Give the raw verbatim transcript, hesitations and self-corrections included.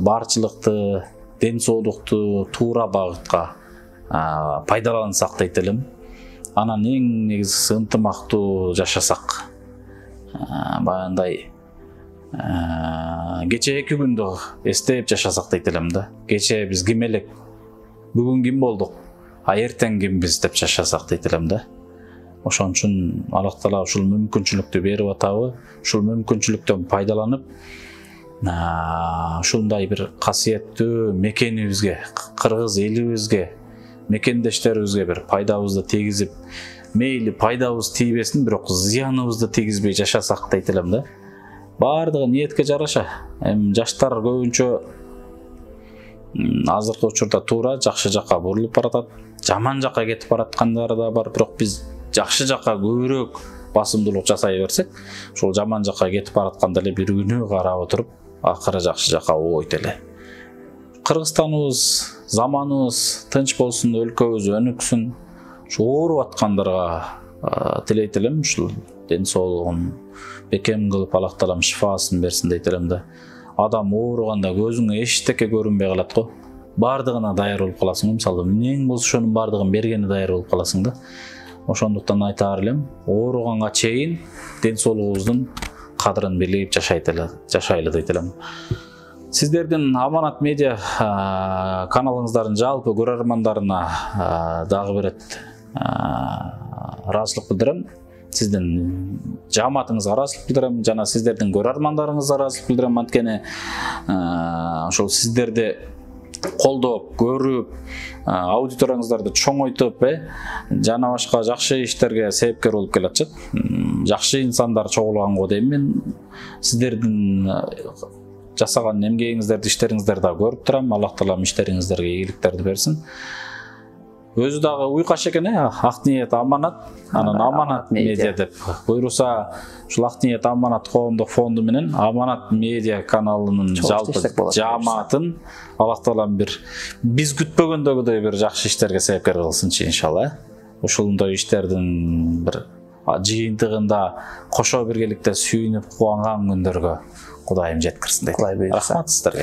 барчылыкты, ден соолукту туура багытка пайдалансак дейт элем. Анан эң негизгиси ынтымактуу жашасак. Баягындай кече эки күндү эстеп жашасак дейт элем да. Кече биз ким элек, бүгүн ким болдук, а эртең кимбиз деп жашасак дейт элем да. Ошон үчүн Аллах Таала ушул мүмкүнчүлүктү берип атабы, ушул мүмкүнчүлүктөн пайдаланып, ушундай бир касиеттүү мекенибизге, кыргыз элибизге, мекендештерибизге бир пайдабызды тийгизип, мейли пайдабыз тийбесин, бирок зыяныбызды тийгизбей жашасак дейт элем да. Бардыгы ниетке жараша. Эми жаштар көбүнчө азыркы учурда туура жакшы жакка бурулуп баратат, жаман жакка кетип бараткандары да бар, бирок биз жакшы жакка көбүрөөк басымдуулук жасай берсек, ушул жаман жакка кетип баратканда эле бир күнү карап отуруп, акыры жакшы жакка ойт эле. Кыргызстаныбыз, заманыбыз тынч болсун, өлкөбүз өнүксүн. Ушу ооруп аткандарга тилейт элем, ушул ден соолугун бекем кылып, Аллах Таалам шифасын берсин дейт элем да. Адам ооруганда көзүңө эчтеке көрүнбөй калат го. Бардыгына даяр болуп каласың, мисалы эмнең болсо ошонун бардыгын бергени даяр болуп каласың да. Ошондуктан айтаар элем, ооруганга чейин ден соолугубуздун кадырын билип жашайт эле, жашайлы дейт элем. Сиздердин Аманат медиа каналыңыздардын жалпы көрөрмандарына дагы бир рет ыраазычылык билдирем. Сиздин жааматыңызга ыраазычылык билдирем, жана сиздердин көрөрмандарыңызга ыраазычылык билдирем. Анткени ошол сиздерди колдоп, көрүп, аудиторияңыздарды чоңойтуп, жана башка жакшы иштерге себепкер болуп келатышат. Жакшы инсандар чогулганго дейм мен. Сиздердин жасаган эмгегиңиздерди, иштериңиздерди да көрүп турам. Аллах Таалам иштериңиздерге ийгиликтерди берсин. Өзү дагы уйкаш экен, ак ниет Аманат, анан Аманат медиа деп буйруса, ушул ак ниет Аманат коомдук фонду менен Аманат медиа каналынын жалпы жааматын Аллах Таалам бир биз күтпөгөндөгүдөй бир жакшы иштерге себепкер кылсынчы иншалла. Ушундай иштердин бир жыйынтыгында кошо биргеликте сүйүнүп кубанган күндөргө Кудайым жеткирсин дейт. Рахмат сиздерге.